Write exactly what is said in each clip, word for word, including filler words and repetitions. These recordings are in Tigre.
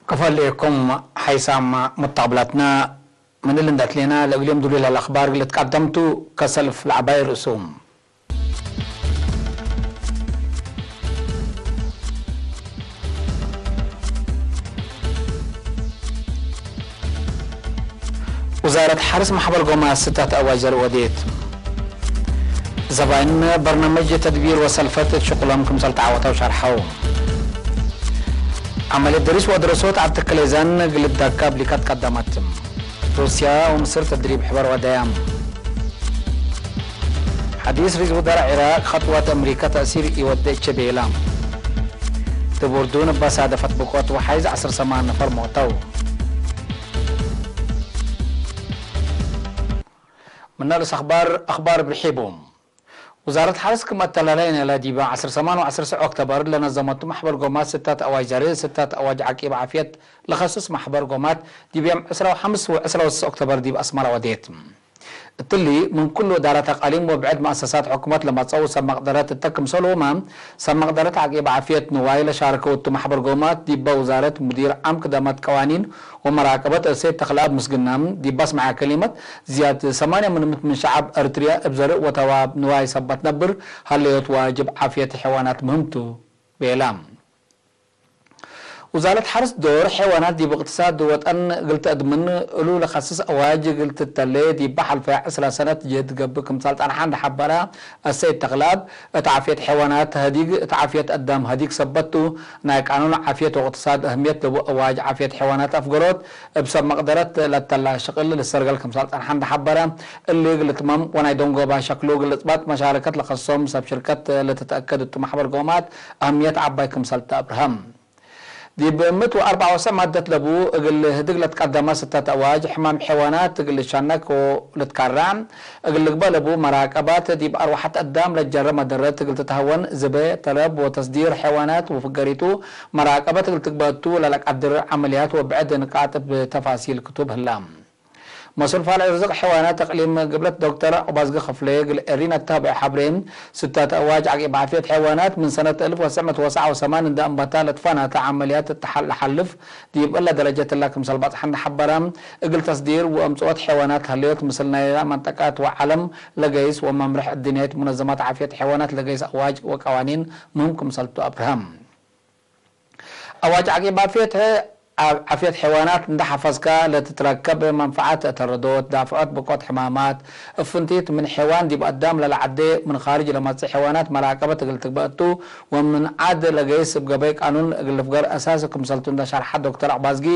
ክፈሌኩም ሓይሳም ሙተቅብላትና፣ ምን እሊ እንዴ አትሌና ለእግልዮም ዱሉይ ለአኽባር እግል ልትቀደም ቱ። ከሰልፍ ለዐባይ ርእሱ። ውዛረት ሐርስ ማሕበር ጎማት ስታት አዋጅ ዘርእ ወዴት። ዘባይን በርናምጅ ተድቢር ወሰልፈት እት ሽቁሎም ክምሰል ተዓወተው ሸርሐው። ዐመልየት ደሪስ ወአድረሶት ዐድ ተከሌዛን እግል ልዳካብ ሊካት ቀደመት። ሩስያ ወምስር ተድሪብ ሕበር ወደያም። ሐዲስ ሪዝ ውዘራ ዒራቅ ከጥወት አምሪከ ተእሲር ኢወዴ እቼ ቤላ። እብ ኡርዱን እበ ሳደፈት ብቆት ወሓይዝ ዐስር ሰማን ነፈር ሞተው። ምነ ርእስ አኽባር፣ አኽባር ብርሒቡ። ውዛረት ሐርስ ክም አተላላይነ እለ ዲበ ዐስር ሰማን ወዐስር ሰዕ ኦክተበር ለነዘመቱ ማሕበር ጎማት ስታት አዋጅ ዘርእ፣ ስታት አዋጅ ዐቂብ ዓፍየት ለኸስስ ማሕበር ጎማት ዲብ ዮም ዕስራ ወሐምስ ወዕስራ ወስስ ኦክተበር ዲብ አስመረ ወዴት። እትሊ ምን ኩሉ እዳራት አቃሊም ወብዕድ መአሰሳት ሕኩመት ለመጸው ሰብ መቅደረት እተ ክምሰልሁመ፣ ሰብ መቅደረት ዐቂብ ዓፍየት ንዋይ ለሻርከው እቱ ማሕበር ጎማት ዲበ ውዛረት ሙዲር ዓም ክደመት ቀዋኒን ወመራቀበት እሰይድ ተኽለአብ ምስግና ዲብ አስመዐ ከሊመት፣ ዝያድ ሰማንያ ምን ምት ምን ሸዐብ ኤረትርያ እብ ዘርእ ወተዋብ ንዋይ ሰበት ነብር ሀለዮት ዋጅብ ዓፍየት ሐይዋናት ምህም ቱ ቤላ። ውዛረት ሐርስ ዶር ሐይዋናት ዲብ እቅትሳድ ወጠን እግል ተአድምን እሉ ለከስስ አዋጅ እግል ትተሌ ዲበ ሐልፈ ዕስራ ሰነት ጅህድ ገብእ ክምሰል ጸንሐ እንዴ ሐበረ፣ አሰይድ ተኽለአብ፣ እት ዓፍየት ሐይዋናት ሀዲግ፣ እት ዓፍየት አዳም ሀዲግ ሰበት ቱ፣ ናይ ቃኑን ዓፍየት ወእቅትሳድ አህምየት ለቡ አዋጅ ዓፍየት ሐይዋናት አፍገሮት፣ እብ ሰብ መቅደረት ለተላ ሽቅል ልሰርገል ክምሰል ጸንሐ እንዴ ሐበረ፣ እሊ እግል ልትመም ወናይ ደንጎባ ሸክሉ እግል ልጽበጥ መሻረከት ለከሶም ሰብ ሽርከት ለትትአከድ እቱ ማሕበር ጎማት አህምየት ዐባይ ክምሰል ተአብርሀ። ዲብ ምእት ወአርበዕ ወሰዕ ማደት ለቡ እግል ህድግ ለትቀደመ ስተት አዋጅ ሕማም ሐይዋናት እግል ልሸነክ ወልትካራዕ እግል ልግበእ ለቡ መራቀባት ዲብ አርወሐት አዳም ለጀረ መደረት እግል ትትሀወን ዝቤ፣ ተለብ ወተስዲር ሐይዋናት ወፍገሪቱ መራቀበት እግል ትግበእ ቱ ለለቀድር ዐመልያት ወብዕድ ንቃጥ እብ ተፋሲል ክቱብ ህላ። መስኡል ፋልሕ ርዝቅ ሐይዋናት እቅሊም ግብለት ዶክተር ዑባዝጊ ክፍሌ እግል ኤሪና እተ ሀበአ ሐብሬ፣ ስተት አዋጅ ዐቂብ ዓፍየት ሐይዋናት ምን ሰነት አልፍ ወትስዕ ምእት ወሰብዓ ወሰማን እንደ አንበታ ለትፈናተ ዐመልያት እት ለሐልፍ ዲብ እለ ደረጀት እላ ክምሰል በጽሐ እንደ ሐበረ፣ እግል ተስዲር ወአምጽኦት ሐይዋናት ሀለዮት ምስል ናይላ መንጠቀት ወዐለም ለገይስ ወመምርሕ እድንያይት ሙነዘማት ዓፍየት ሐይዋናት ለገይስ አዋጅ ወቀዋኒን ምህም ክምሰል ቱ አብርሀ። አዋጅ ዐቂብ ዓፍየት፣ ዓፍየት ሐይዋናት እንደ ሐፈዝከ ለትትረከብ መንፈዐት እት ረዶት፣ ዳፍዖት ብቆት ሕማማት፣ እብ ፍንቲት ምን ሐይዋን ዲብ አዳም ለለዐዴ ምን ካርጅ ለመጽእ ሐይዋናት መራቀበት እግል ትግበእ ቱ፣ ወምን ዐድ ለገይስ እብ ገበይ ቃኑን እግል ልፍገር አሳሲ ክምሰል ቱ እንደ ሸርሐ ዶክተር አባዝጊ፣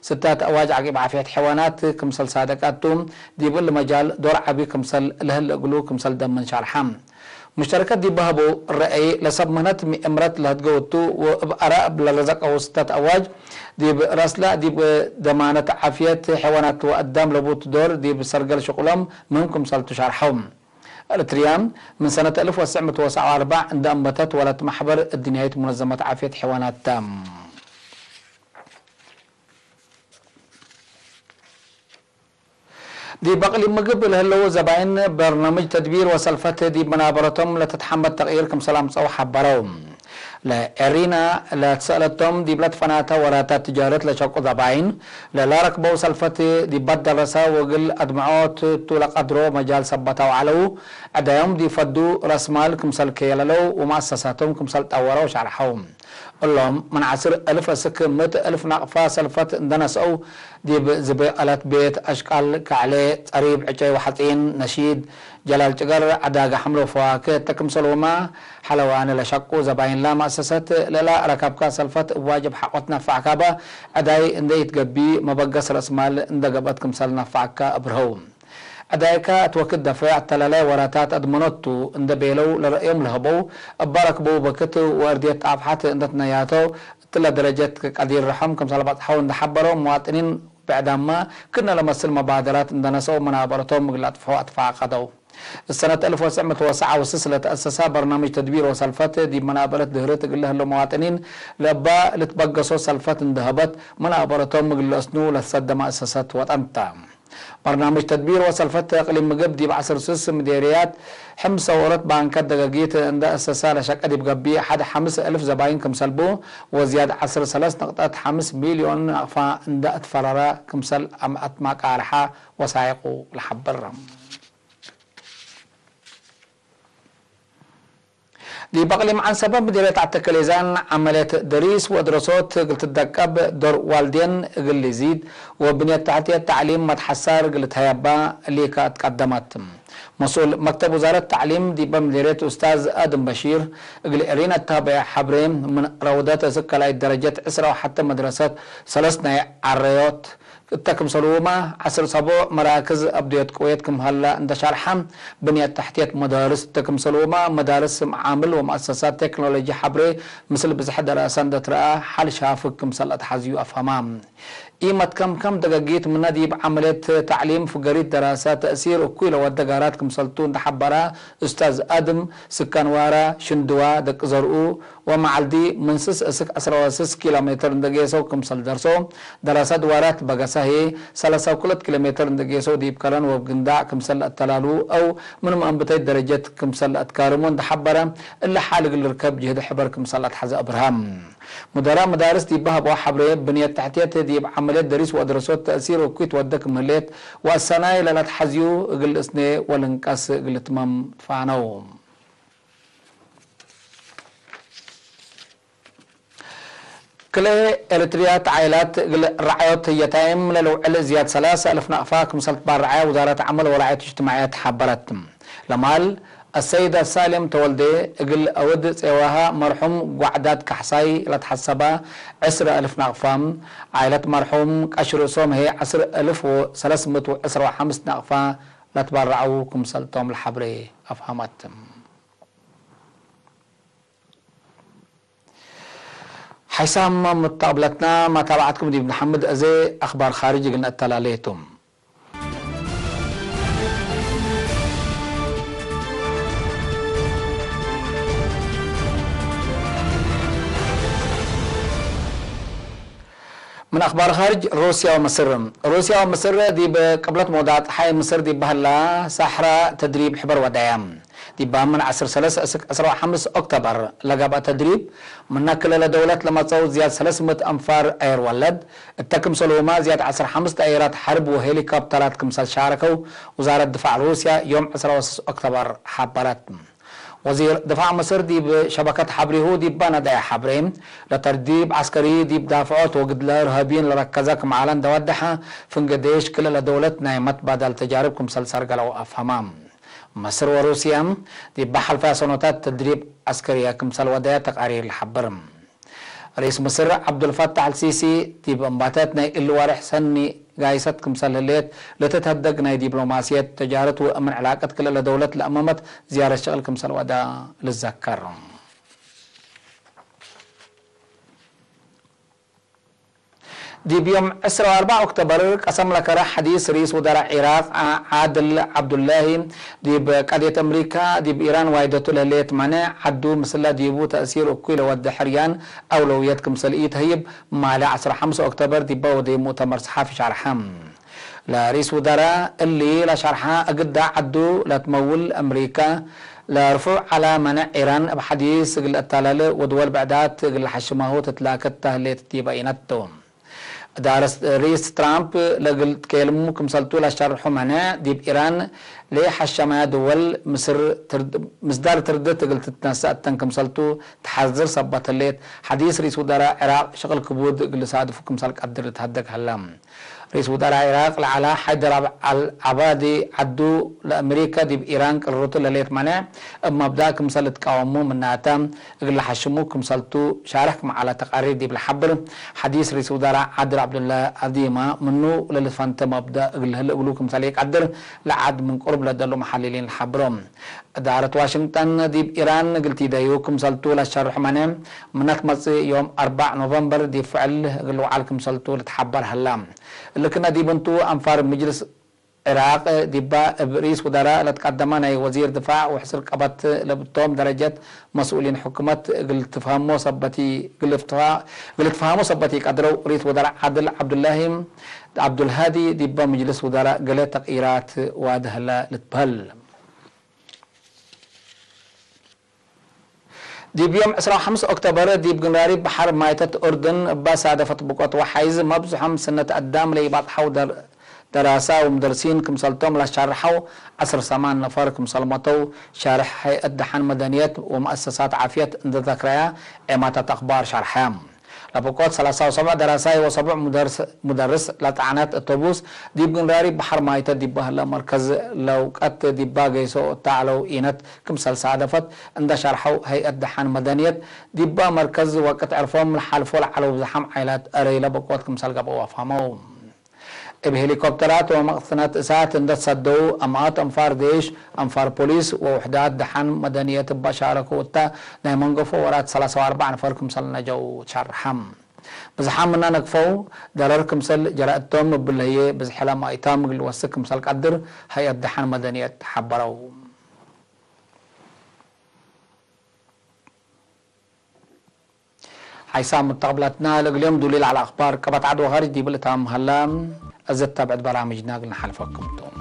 ስተት አዋጅ ዐቂብ ዓፍየት ሐይዋናት ክምሰል ሳደቀት ቱ፣ ዲብ እሊ መጃል ዶር ዐቢ ክምሰል ለህል እግሉ ክምሰል ደምን ሸርሐ። ሙሽተረከት ዲብ በሀበው ረአይ፣ ለሰብ ምህነት ምእምረት ለህድገው ቱ ወእብ አራእ ለረዘቀው ስተት አዋጅ፣ ዲብ ረስላ ዲብ ደማነት ዓፍየት ሐይዋናት ወአዳም ለቡት ዶር ዲብ ሰርገል ሽቁሎም ምህም ክምሰል ቱ ሸርሐው። ኤረትርያ ምን ሰነት አልፍ ወትስዕ ምእት ወሰብዓ ወአርበዕ እንደ አንበተት ወለት መሕበር እድንያይት ሙነዘመት ዓፍየት ሐይዋናት ተ። ዲብ አቅሊም ምግብ ለህለው ዘባይን በርናምጅ ተድቢር ወሰልፈት ዲብ መናበረቶም ለትትሐመድ ተቅይር ክምሰል አምጸው ሐበረው። ለኤሪና ለትሰአለቶም ዲብ ለትፈናተ ወራታት ትጃረት ለሸቁ ዘባይን ለላረክበው ሰልፈት ዲብ በደረሰ ወእግል አድምዖት ቱ ለቀድሮ መጃል ሰበተው ዐለው። ዕዳዮም ዲብ ፈዱ ረስማል ክምሰል ከየለለው ወመአሰሳቶም ክምሰል ጠወረው ሸርሐው። እሎም ምን ዐስር እልፍ እስክ ምእት እልፍ ናቅፋ ሰልፈት እንደ ነስአው፣ ዲብ ዝቤ አላት ቤት፣ አሽቃል፣ ከዕሌ፣ ጸሪብ፣ ዕጨይ ወሐጺን፣ ነሺድ፣ ጀላል ጭገር፣ ዐዳገ ሐምሎ ፈዋክህ እተ ክምሰልሁመ ሐለዋነ ለሸቁ ዘባይንላ መአሰሰት፣ ለእላ ረከብካ ሰልፈት እብ ዋጅብ ሐቆ ትነፈዕካበ፣ ዕዳይ እንደ ኢትገቢ መበገስ ረእስማል እንደ ገብአት ክምሰል ነፈዕካ አብርሀው። ዕዳይከ እት ወክድ ደፍዕ አተላላይ ወራታት አድመኖት ቱ፣ እንደ ቤለው ለረአዮም ለሀበው፣ እበ ረክበው በክት ወእርድየት ጣፍሐት እንደ ትነያተው፣ እትለ ደረጀት ቀዲር ርሖም ክምሰል በጽሐው እንደ ሐበረው፣ መዋጥኒን ብዕዳመ ክእነ ለመስል መባደራት እንደ ነሰአው መናበረቶም እግል ለአጥፍሖ አትፋቀደው። ሰነት አልፍ ወትሰዕ ምእት ወሰብዓ ወስስ ለተአሰሳ በርናምጅ ተድቢር ወሰልፈት ዲብ መናበረት ድህርት እግል ለህለው መዋጥኒን ለእባ ልትበገሶ ሰልፈት እንደ ሀበት መናበረቶም እግል ለአስኑ ለትሰደ መአሰሰት ወጠን ተ። በርናምጅ ተድቢር ወሰልፈት እቅሊም ምግብ ዲብ ዐስር ስስ ምዴርያት ሕምስ ሰወረት ባንከት ደገጊት እንደ አሰሳ ለሸቀ ዲብ ገብእ ሐድ ሐምስ እልፍ ዘባይን ክምሰል ቡ ወዝያድ ዐስር ሰለስ ነቅጠት ሐምስ ሚልዮን ናቅፋ እንደ አትፈረረ ክምሰል አትማቃርሐ ወሳይቁ ለሐብር። ዲብ አቅሊም ዐንሰበ ምዴርየት አተከሌዛን ዐመልየት ደሪስ ወድረሶት እግል ትደቀብ፣ ዶር ዋልዴን እግል ልዚድ ወብንየት ተሕትየት ተዕሊም መትሐሳር እግል ልትሀየባ ሊከ አትቀደመት። መስኡል መክተብ ውዛረት ተዕሊም ዲበ ምዴርየት ኡስታዝ አድም በሺር እግል ኤሪን አታበየ ሐብሬ፣ ምን ረውደት እስክ ካልኣይት ደረጀት ዕስራ ወሐተ መድረሰት ሰለስ ናይ ዐረዮት እተ ክምሰልሁመ ዐስር ሰቦዕ መራክዝ አብድዮት ቅዌት ክም ሀለ እንደ ሻርሐ፣ ብንየት ተሕትየት መዳርስ እተ ክምሰልሁመ መዳርስ ስም ዓምል ወመአሰሳት ቴክኖሎጂ ሐብሬ ምስል ብዝሐ ደራሰ እንደ ትረአ ሐል ሻፍግ ክምሰል አትሐዝዩ አፍሀማ። ኢመትከምከም ደገጊት ምነ ዲብ ዐመልየት ተዕሊም ፍገሪት ደራሰ ተእሲር እኩይ ለወደ ጋራት ክምሰልቱ እንደ ሐበረ ኡስታዝ አድም፣ ስካን ዋራ፣ ሽንድዋ፣ ደቂ ዘርኡ፣ ወመዓልዲ ምን ስስ እስክ ዐስራ ወስስ ኪሎ ሜትር እንደ ጌሰው ክምሰል ደርሶ፣ ደራሰት ዋራት በገሰ ህዬ ሰለሳ ወክልኤት ኪሎ ሜትር እንደ ጌሰው ዲብ ከረን ወእብ ግንዳዕ ክምሰል ለአተላሉ አው ምን መአንብተይት ደረጀት ክምሰል ለአትካርሙ እንደ ሐበረ፣ እሊ ሓል እግል ልርከብ ጅህድ ሕበር ክምሰል ለአትሐዘ አብርሃም። ሙደራእ መዳርስ ዲብ ሀበው ሐብሬ፣ ብንየት ተሕትየት ዲብ ዐመልየት ደሪስ ወአድረሶት ተእሲር እኩይ ትወደ ክም ህሌት ወአሰናይ ለለአትሐዝዩ እግል ልእስኔ ወልንቀስ እግል ልትመም ትፋነው። ክልኤ ኤሪትርያት ዓኢላት እግል ረዓዮት የታይም ለልውዕል ዝያድ ሰላሰ አልፍ ናቅፋ ክምሰል ትባረዐ ውዛረት ዐመል ወራዕየት እጅትማዕየት ሐበረት። ለማል አሰይደ ሳሌም ተወልዴ እግል አውድ ጼዋሃ መርሑም ጓዕዳት ካሕሳይ ለትሐሰበ ዕስረ አልፍ ናቅፋ፣ ዓኢለት መርሑም ቀሽ ርእሶም ህዬ ዐስር አልፍ ወሰለስ ምእት ወዕስረ ወሐምስ ናቅፋ ለትባረዐው ክምሰልቶም ለሐብሬ አፍሀመት። ሓይሳም ሙተቅብለትና፣ መታብዐትኩም ዲብ ነሐምድ፣ አዜ አኽባር ኻርጅ እግል ነአተላሌ ቱ። ምን አኽባር ኻርጅ፣ ሩስያ ወምስር። ሩስያ ወምስር ዲብ ቅብለት መውዳቅ ጸሓይ ምስር ዲብ በህላ ሳሕራ ተድሪብ ሕበር ወደያ። ዲብ ምን ዐስር ሰለስ እስክ ዐስር ወሐምስ ኦክቶበር ለገብአ ተድሪብ፣ ምነ ክልለ ደውለት ለመጽአው ዝያድ ሰለስ ምእት አንፋር አየር ወለድ፣ እተ ክምሰልሁመ ዝያድ ዐስር ሐምስ ጠያይራት ሐርብ ወሄሊኮፕተራት ክምሰል ሻረከው ውዛረት ድፋዕ ሩስያ ዮም ዐስር ወስስ ኦክቶበር ሐበረት። ወዚር ድፋዕ ምስር ዲብ ሸበከት ሐብሬሁ ዲብ ነደየ ሐብሬ፣ ለተድሪብ ዐስከሪ ዲብ ዳፍዖት ወግድለ እርሃብይን ለረከዘ ክም ዐለ እንደ ወደሐ፣ ፍንጌ ዴሽ ክልለ ደውለት ናይ መትባዳል ተጃርብ ክምሰል ሰርገለው አፍሀማ። መስር ወሩስያ ዲብ ሐልፈ ሰኖታት ተድሪብ ዐስከርየ ክምሰል ወደየ ተቃሪር ለሐብር። ርኢስ ምስር ዐብዱልፈታሕ አልሲሲ ዲብ እምባተት ናይ እሊ ወርሕ ሰኒ ጋይሰት ክምሰል ህሌት ለትትሀደግ ናይ ዲፕሎማስየት፣ ተጃረት ወእምን ዕላቀት ክልኤ ለደውለት ለአመመት ዝያረት ሸቅል ክምሰል ወደ ልዘከር። ዲብ ዮም ዕስራ ወአርበዕ ኦክቶበር ቀሰም ለከረ ሐዲስ ርኢስ ውደራእ ዒራቅ ዓ-፣ ዓድል ዐብዱላሂ ዲብ ቀድየት አምሪካ ዲብ ኢራን ዋይደቱ ለህሌት መኔዕ ዐዱ ምስለ ዲቡ ተእሲር እኩይ ለወዴ ሕርያን አውለውየት ክምሰል ኢተህይብ ማሌ ዐስራ ሐምስ ኦክቶበር ዲበ ወዴ ሙእተመር ሰሓፊ ሸርሐ። ለርኢስ ውደራእ እሊ ለሸርሐ እግዳ ዐዱ ለትመውል አምሪካ ለርፉዕ ዐለ መኔዕ ኢራን እብ ሐዲስ እግል ለአታለል ወድወል ብዕዳት እግል ለሐሽማሁ ትትላከት ተህሌት ዲበ ኢነቱ። እዳረት ርኢስ ትራምፕ ለእግል ትኬልሙ ክምሰልቱ ለሸርሑ መኔዕ፣ ዲብ ኢራን ለኢሐሸመያ ድወል ምስር ትርድ-፣ ምስዳር ትርድት እግል ትትነሰእ እተን ክምሰልቱ ተሐዝር ሰበት ህሌት፣ ሐዲስ ርኢስ ውደራእ ዒራቅ ሸቅል ክቡድ እግል ልሳድፉ ክምሰል ቀድር ልትሀደግ ሀለ። ርኢስ ውደራእ ዒራቅ ለዐለ ሓይደር አብ-፣ አልዓባዲ ዐዱ፣ ለአሜሪከ ዲብ ኢራን ቅርርቱ ለሌት መኔዕ እብ መብዳእ ክምሰል ልትቃወሙ ምናተ እግል ለሐሽሙ ክምሰልቱ ሻርሕ ክም ዐለ ተቃሪር ዲብ ለሐብር ሐዲስ ርኢስ ውደራእ ዓድል ዐብዱላህ አዲማ ምኑ ለልትፈንተ መብዳእ እግል ልህል እግሉ ክምሰል ኢቀድር ለዐድ ምን ቅሩብ ለደሉ መሐልሊን ለሐብሮ። እዳረት ዋሽንግጠን ዲብ ኢራን እግል ቲደዩ ክምሰልቱ ለሸርሕ መኔዕ ምነ ትመጽእ ዮም አርበዕ ኖቨምበር ዲብ ፍዕል እግል ልውዓል ክምሰልቱ ልትሐበር ሀላ። እሊ ክነ ዲብ እንቱ አንፋር ምጅልስ ዕራቅ ዲባ እብ ርኢስ ውደራእ ለትቀደመ ናይ ወዚር ድፋዕ ወሕስር ቀበት ለብቶም ደረጀት መስኡሊን ሕኩመት እግል ትፍሀሞ ሰበት ኢ-፣ እግል ትፋ-፣ እግል ትፍሀሞ ሰበት ኢቀድረው። ርኢስ ውደራእ ዓድል ዐብዱላሂ ዐብዱልሃዲ ዲበ ምጅልስ ውደራእ ገሌ ተቅይራት ዋዲ ህለ ልትበህል። ዲብ ዮም ዕስራ ወሐምስ ኦክቶበር፣ ዲብ ግንራሪብ በሐር ማይተት ኡርድን እበ ሳደፈት ብቆት ወሓይዝ፣ መብዝሖም ስነት አዳም ለኢባጽሐው ደር-፣ ደራሳ ወሙደርሲን ክምሰልቶም ለሻርሐው፣ ዐስር ሰማን ነፈር ክምሰል ሞተው፣ ሻርሕ ሀይአት ደሐን መደንየት ወመአሰሳት ዓፍየት እንዴ ዘክረያ፣ ዔማታት አክባር ሻርሐ። ለብቆት ሰላሳ ወሰብዕ ደራሳይ ወሰብዕ ሙደርስ-፣ ሙደርስ ለጸዕነት እቶቡስ፣ ዲብ ግንራሪብ በሐር ማይተት ዲበ ህለ መርከዝ ለውቀት ዲባ ገይሶ እተ ዐለው ኢነት ክምሰል ሳደፈት እንዴ ሸርሐው፣ ሀይአት ደሐን መደንየት ዲበ መርከዝ ወቅት ዕርፎም ለሓልፎ ለዐለው ብዝሓም ዓይላት እረይ ለብቆት ክምሰል ገብአው አፍሀመው። እብ ሄሊኮፕተራት ወመቅሰነት እሳት እንዴ ትሰደው፣ አምኣት አንፋር ዴሽ፣ አንፋር ፖሊስ ወውሕዳት ደሐን መደንየት እበ ሻረከው እተ ናይ መንገፎ ወራት ሰላሳ ወአርበዕ ነፈር ክምሰል ነጀው ሸርሐ። ብዝሓም ምና ነግፈው፣ ደረር ክምሰል ጀረ እቶም እብለ ህዬ፣ ብዝሕለ ማይታም እግል ልወስክ ክምሰል ቀድር ሀይአት ደሐን መደንየት ሐበረው። ሓይሳም መተቅብላትና ለእግልዮም ዱሊል ዐለ አክባር ቀበት ዐድ ወኸርጅ ዲብ ልታም ሀላ። እዘ ተብዕት በራምጅና እግል ነሓልፈኩም ቱ።